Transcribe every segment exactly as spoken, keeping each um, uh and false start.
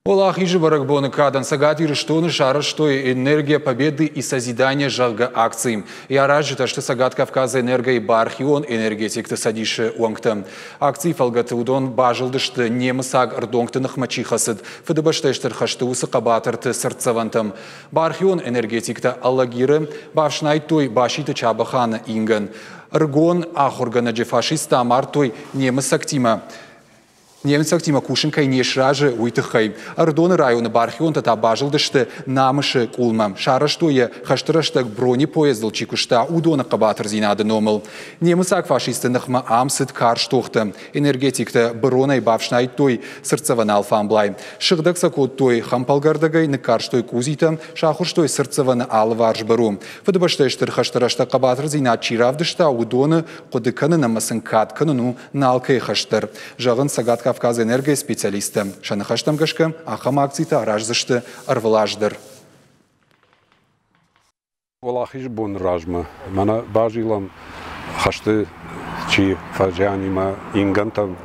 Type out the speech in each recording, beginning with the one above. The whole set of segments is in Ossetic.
Уӕлахизы бӕрӕгбоны кадӕн Цӕгат Ирыстоны сарӕзтой «Энергия Победы и Созидания», зӕгъгӕ, акци. Йӕ аразджытӕ сты Цӕгат Кавказы энергойы бархион энергетикты цӕдисы уӕнгтӕ. Акцийы фӕлгӕты уыдон базылдысты, немыцаг ӕрдонгты ныхмӕ чи хӕцыд, Фыдыбӕстӕйы Стыр хӕсты уыцы хъӕбатырты цыртдзӕвӕнтӕм. Бархион энергетиктӕ Алагиры бафснайдтой Баситы Чабӕханы ингӕн. Ӕрыгон ахуыргӕнӕджы фашисттӕ амардтой, немыцӕгтимӕ немыцӕгтимӕ кусын кӕй не сразы, уый тыххӕй. Ӕрыдоны районы бархионтӕ та базылдысты Намысы къулмӕ. Сарӕзтой йӕ, хӕсты рӕстӕг бронепоездыл чи куыста, уыдоны хъӕбатырдзинады номыл. Немыцаг фашистты ныхмӕ ам цыд карз тохтӕ. Энергетиктӕ быронӕй бафснайдтой цыртдзӕвӕн алфамблай. Сыгъдӕг сӕ кодтой хӕмпӕлгӕрдӕгӕй, ныккарстой къудзитӕ, сахуырстой цыртдзӕвӕны алыварс быру. Фыдыбӕстӕйы Стыр хӕсты рӕстӕг хъӕбатырдзинад чи равдыста, уыдоны хъуыды кӕнын ӕмӕ сын кад кӕнын у нӕ алкӕйы хӕс дӕр, зӕгъынц Цӕгат Кавказы энергойы специалисттӕ. Сӕ ныхӕстӕм гӕсгӕ, ахӕм акцитӕ араздзысты ӕрвылаз дӕр. Уӕлахизы боны размӕ мӕнӕ базилӕм, хӕсты чи фӕзиан и, мӕ ингӕнтӕм,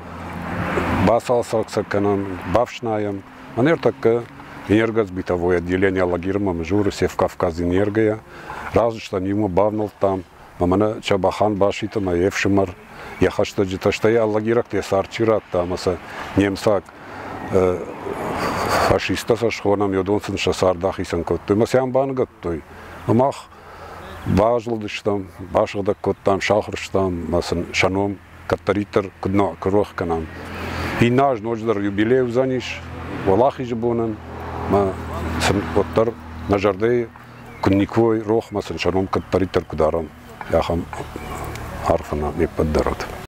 бацалцӕг сӕ кӕнӕм, бафснайӕм. Мӕнӕ ӕртӕккӕ энергосбытовое отделение Алагирмӕ Мызуры Севкавказэнергойӕ разыстӕм, иумӕ бавнӕлдтам. Мӕнӕ Чабӕхан Баситы мӕ йе фсымӕр, йӕ хӕстӕджытӕ, стӕй алагирӕгты йӕ цард чи радта ӕмӕ сӕ немыцаг фашисттӕ сӕ схонӕм, уыдон сын сӕ цард ахицӕн кодтой ӕмӕ сӕ ам баныгӕдтой. Мах базылдыстӕм, басыгъдӕг кодтам, сахуырстам ӕмӕ сын сӕ ном кӕддӕриддӕр куыд нӕ рох кӕнӕм. Иннӕ аз ноджыдӕр юбилей уыдзӕнис Уӕлахизы бонӕн, ӕмӕ сын уӕддӕр нӕ зӕрдӕйы куыд никуы рох, ӕмӕ сын сӕ ном кӕддӕриддӕр куыд арӕм, ахӕм арфӕ нӕ не ппӕт дӕр уӕд.